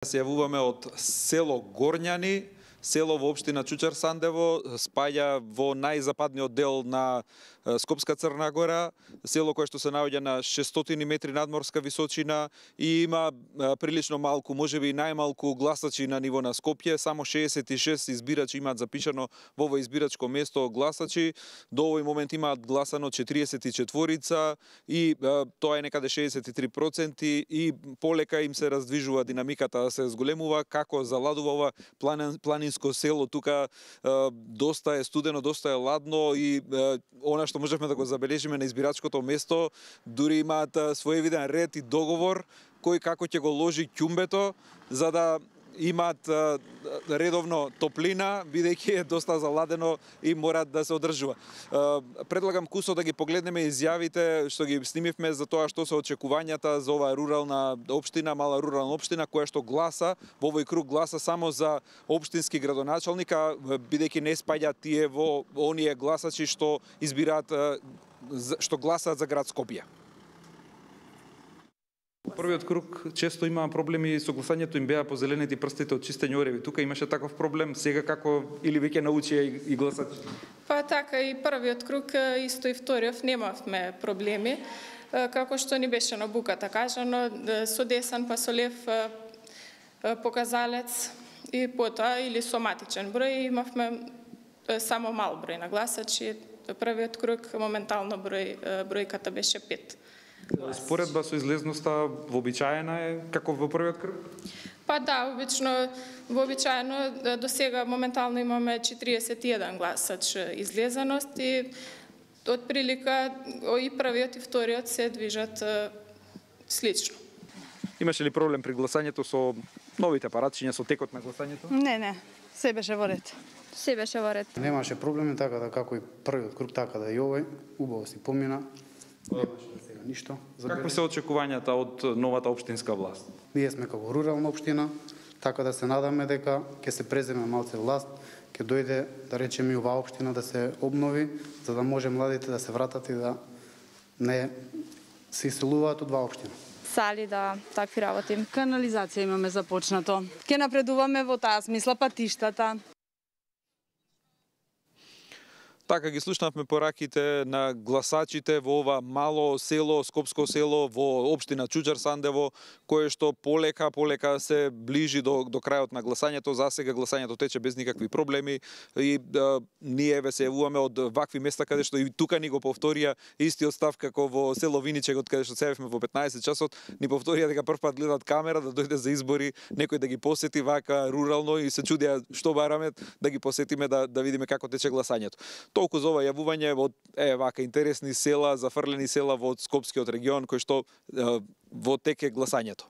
Се јавуваме од село Горњани, село во општина Чучар Сандево, спаѓа во најзападниот дел на Скопска Црна Гора, село кое што се наоѓа на 600 метри надморска височина и има прилично малку, можеби најмалку гласачи на ниво на Скопје, само 66 избирачи имаат запишано во ово избирачко место гласачи. До овој момент имаат гласано 44 и тоа е некаде 63% и полека им се раздвижува динамиката да се зголемува, како заладува ова планинско село. Тука доста е студено, доста е ладно и она што можевме да го забележиме на избирачкото место, дури имаат своевиден ред и договор кој како ќе го ложи ќумбето за да имаат редовно топлина, бидејќи е доста заладено и мора да се одржува. Предлагам кусо да ги погледнеме изјавите што ги снимивме за тоа што се очекувањата за оваа рурална општина, мала рурална општина, која што гласа, во овој круг гласа само за општински градоначалник, бидејќи не спаѓа тие во оние гласачи што избираат, што гласаат за град Скопје. Првиот круг често имаа проблеми со гласањето, им беа позеленети прстите од чистење ореви. Тука имаше таков проблем, сега како или веќе научија и гласачите? Па така, и првиот круг, исто и вториот, немавме проблеми. Како што ни беше на буката кажано, со десен па со лев показалец и потоа или соматичен број, имавме само мал број на гласачи. Првиот круг, моментално бројката беше 5. Споредба со излезноста вообичаена е како во првиот круг? Па да, вообичаено до сега моментално имаме 41 гласач излезеност и од прилика и првиот и вториот се движат слично. Имаше ли проблем при гласањето со новите апаратчиња, со текот на гласањето? Не, се беше во ред. Се беше во ред. Немаше проблеми, така да како и првиот круг, така да и овој, убаво си помина. Ништо. Какви се очекувањата од новата општинска власт? Ние сме како рурална општина, така да се надаме дека ќе се преземе малце власт, ќе дојде, да речеме, и оваа општина да се обнови, за да може младите да се вратат и да не се иселуваат од оваа општина. Сали, да, такви работи. Канализација имаме започнато. Ќе напредуваме во таа смисла, патиштата. Така ги слушнавме пораките на гласачите во ова мало село, скопско село во општина Чучар Сандево, кое што полека се ближи до крајот на гласањето. За сега гласањето тече без никакви проблеми и ние се јавуваме од вакви места каде што и тука ни го повторија истиот став како во село Виничег, од каде што се јавивме во 15 часот, ни повторија дека прв пат гледат камера да дојде за избори, некој да ги посети вака рурално и се чудија што бараме да ги посетиме да видиме како тече гласањето. Толку за ова јавување од вака интересни села, зафрлени села во Скопскиот регион кој што во тек е гласањето.